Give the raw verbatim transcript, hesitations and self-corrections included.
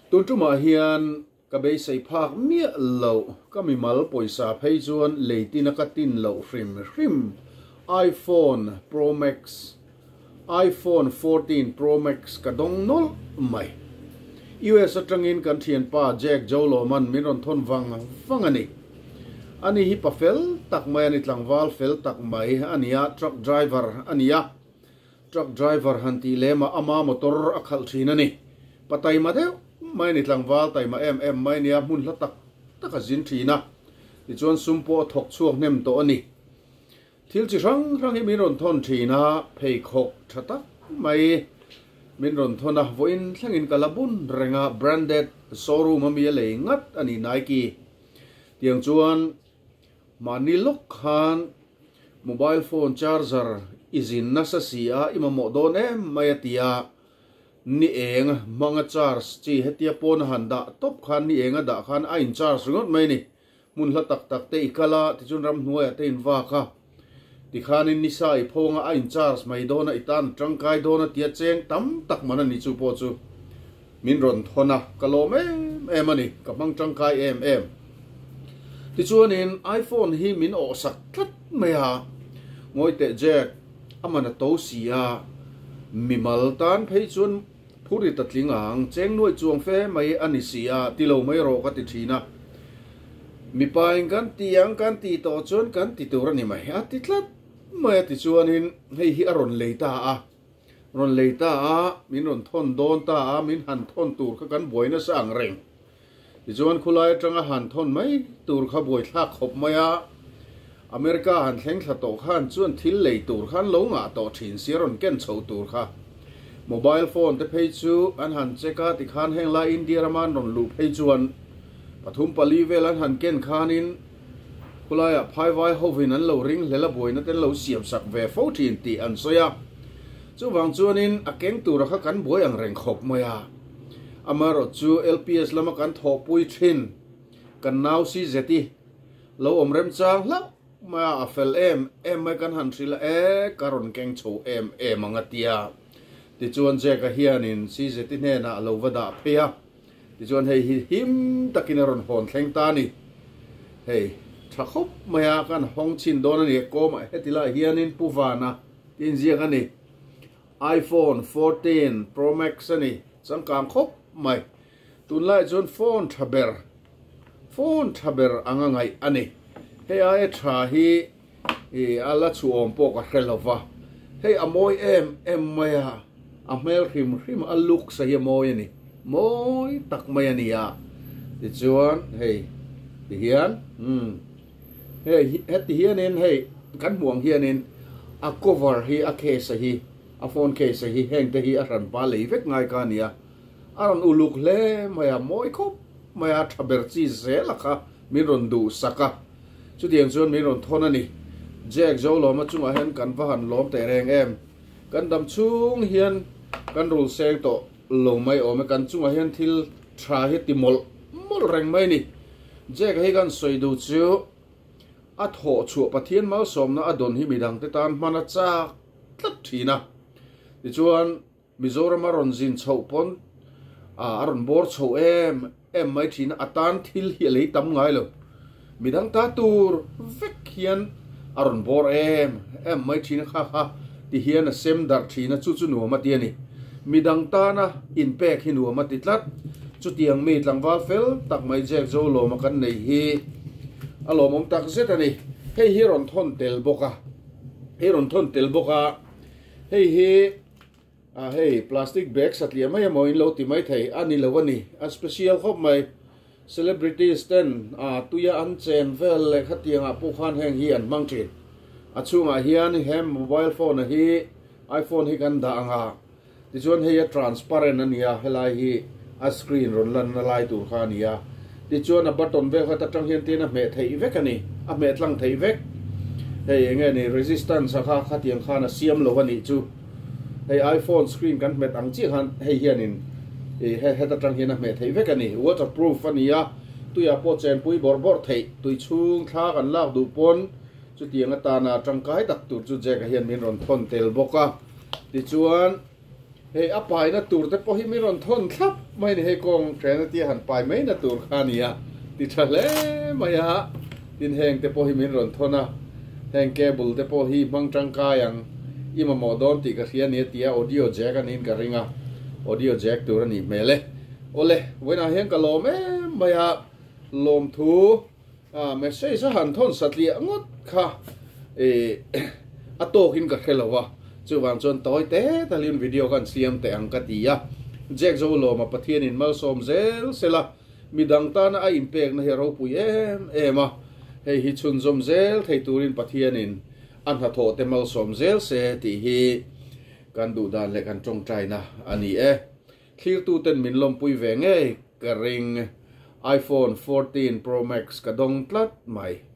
Tun tumah hian ka beisei phak miah lo ka mimal pawisa phei chuan leitin a ka tin loh hrim hrim iPhone Pro Max iPhone fourteen Pro Max ka dawng nawlh mai. U S atangin kan thianpa Jack Joloman min rawn thawn vang vang a ni. Ani hi pa fel tak mai ani tlangval fel tak mai ania truck driver ania truck driver han ti lema ama motor a khalh thin ani. Patai ma deuh mai ni tlangval taima em em mai nia hmun hla tak tak a zin thina tichuan sumpo thawk chhuak hnem tawh ani. Thil chi hrang hrang hi min rawn thawn thina pheikhawk tha tak mai min rawn thawn a vawiin thlengin ka la bun renga branded showroom ami a lei ngat ani Nike. Tiang chuan mahni lawk khan mobile phone charger izin nasa si a imamawh dawn em mai a tia ni eng hmanga charge chi hetia pawn a han dah tawp khan ni eng a dah khan a in charge ringawt mai ni. Hmun hla tak tak te i kal a tichuan ram hnuaiah te in vak a tikhanin nisa i phawnga a in charge mai dawn a i tan tangkai dawn a tia cheng tam tak man ani chu pawh chu min rawn thawn a ka lawm em em ani ka hmang tangkai em em. Tichuanin iPhone hi min awh sak tlat mai a ngawi teh Jack amana to si a mimal tan phei chuan phuri ta tling ang cheng nuai chuang fe mai ani si a tilo mai ro ka ti thina. Mipain kan tiang kan ti to chuan kan ti tur ani mai a ti tlat mai a ti chuanin hei hi a rawn lei ta a rawn lei ta a min rawn thawn dawn ta a min han thawn tur kha kan buaina sa ang reng. Tichuan khulai atanga han thawn mai tur kha buai thlak khawp mai a America han thleng thla tawh khan chuan thil lei tur khan lo ngah tawh thin si rawn ken chho tur kha mobile phone te phei chu an han check a tikhan heng lai India raman rawn luh phei chuan pathum pali vel an han ken khanin khulaiah phaiwai hovin an lo ring hlela buaina ten lo siam sak ve fo thin tih an sawi a. Chuwang chuanin a keng tura kha kan buai ang reng khawp mai a amarawh chu L P S lama kan thawhpui thin kan nau si zeti lo awm rem chang hlauh mai a a fel em em mai kan han hril a e ka rawn keng chho em em ang a tia. Tichuan Jack a hianin si zeti hnenah lo va dah phei a tichuan hei hi him takin a rawn hawn thleng ta ni. Hei tha khawp mai a kan hawng chin dawn ani kawmah heti lai hianin pu vana tin ziak ani iPhone fourteen Pro Max ani changkang khawp mai. Tunlai chuan phone tha ber phone tha ber anga ngai ani. Hei ai tha hi i ala chu awm pawh ka hre lova hei a mawi em em mai a a hmel hrim hrim a look sa hi a mawi ani mawi tak mai ani a. Tichuan hei ti hian hmm hei heti hianin hei kan hmuang hianin a cover hi a case hi a phone case hi heng te hi a hran pa lei vek ngai ka ania a rawn uluk hle mai a mawi khawp mai a tha ber chi zel a kha min rawn duh sak a chutiang chuan min rawn thawn ani. Jack Joloma chungah hian kan va han lawm teh reng em kan dam chhung hian kan rul seng tawh lo mai awm e kan chungah hian thil tha hi ti mawlh mawlh reng mai ni. Jack hi kan sawi duh chu a thawh chhuah Pathian malsawmna a dawn hi midang te tan hman a chak tlat thina. Tichuan Mizoram a rawn zin chhoh pawn a rawn bawr chho em em mai thina a tan thil hi a lei tam ngai lo midang ta tur vek hian a rawn bawr em em mai thina kha kha ti hian a sem dar thina chu chu nuam a ti ani. Midang tana in pek hi nuam a ti tlat chutiang mi tlangval fel tak mai Jack Joloma kan nei hi a lawmawm tak zet ani. Hei hi rawn thawn tel bawk a hei rawn thawn tel bawk a hei hi a hei plastic bag satliah mai emaw in lo ti mai thei ani lo ani a special khawp mai. Celebrities ten a tuia an chen vel leh khatiangah pawh khan heng hi an hmang thin. A chhungah hian hem mobile phone a hi iPhone hi kan dah anga tichuan hei a transparent ania helai hi a screen rawn lan na lai tur kha ania tichuan a button vel kha ta tang hian tin a hmeh theih vek ani a hmeh tlang theih vek. Hei enge ni resistance a kha khatiang khan a siam lo ani chu hei iPhone screen kan hmet ang chi khan hei hianin e he heta tang hian a hmeh theih vek ani. Waterproof ania tuia pawh chen pui bawr bawr theih tui chhung thla kan lak duh pawn chutiang atana tangkai tak tur chu Jack a hian min rawn thawn tel bawk a. Tichuan hei a paina tur te pawh hi min rawn thawn thlap Mai ni hei kawng hrena tia han pai mai na tur kha nia ti tha hle mai a tin heng te pawh hi min rawn thawn a heng cable te pawh hi hmang tangkai ang i mamawh dawn tih ka hria nia tia audio jack anin ka ring a audio jack tur ani hmel e ole vawiinah hian ka lawm em mai a lawm thu a message a han thawn satliah ngawt kha e a tawkin ka hre lo a chuwang chuan tawi te talin video kan siam te ang ka ti a Jack zo lawm a Pathianin malsawm zel sela midang tana a inpek na hi ropui em em a hei hi chhun zawm zel thei turin Pathianin a hnathawh te malsawm zel se tih hi kan duh dan leh kan tawngtai na ani e thlir tu ten min lawmpui ve ngei ka ring iPhone fourteen Pro Max ka dawng tlat mai.